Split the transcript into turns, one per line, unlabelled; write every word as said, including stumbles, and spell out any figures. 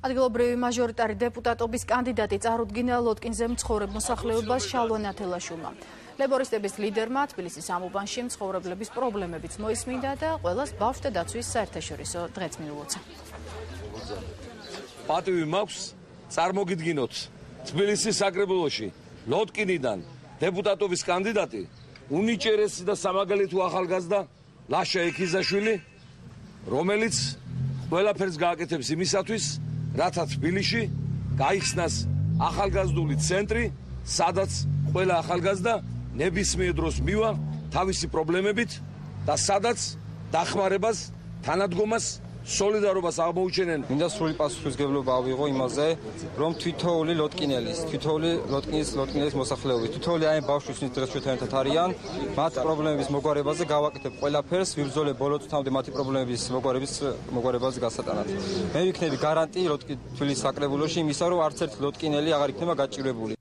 ადგილობრივი მაჟორიტარი დეპუტატობის კანდიდატი წარუდგინა ლოტკინზე მცხოვრებ მოსახლეობას შალვა ნათელაშვილმა. ლეიბორისტების ლიდერმა თბილისის ამ უბანში მცხოვრებლების პრობლემებიც მოისმინდა და ყველას ბავშვთა დაცვის საერთაშორისო დღეც მიულოცა.
პატივი მაქვს წარმოგიდგინოთ თბილისის საკრებულოში ლოტკინიდან დეპუტატობის კანდიდატი უნიჭერესი და სამაგალითო ახალგაზრდა ლაშა ექიზაშვილი, რომელიც ყველაფერს გააკეთებს იმისათვის, რათა თბილისში გაიხსნას ახალგაზრდული ცენტრი, სადაც ყველა ახალგაზრდა ნებისმიერ დროს მივა თავისი პრობლემებით და სადაც დახმარებას, თანადგომას, სოლიდარობას აღმოუჩენენ.
მინდა სრული პასუხისმგებლობა ავიღო იმაზე, რომ თითოეული ლოტკინელის, თითოეული ლოტკინის ლოტკინელის მოსახლეობის, თითოეული აი ბავშვის დღეს ჩვენთან ერთად არიან, მათ პრობლემების მოგვარებაზე გავაკეთებ ყველაფერს, ვიბრძოლებ ბოლო წუთამდე მათი პრობლემების მოგვარების მოგვარებაზე გასატანად. მე ვიქნები გარანტი ლოტკინ თბილისის საკრებულოში იმისა, რომ არც ერთი ლოტკინელი აღარ იქნება გაჭირვებული.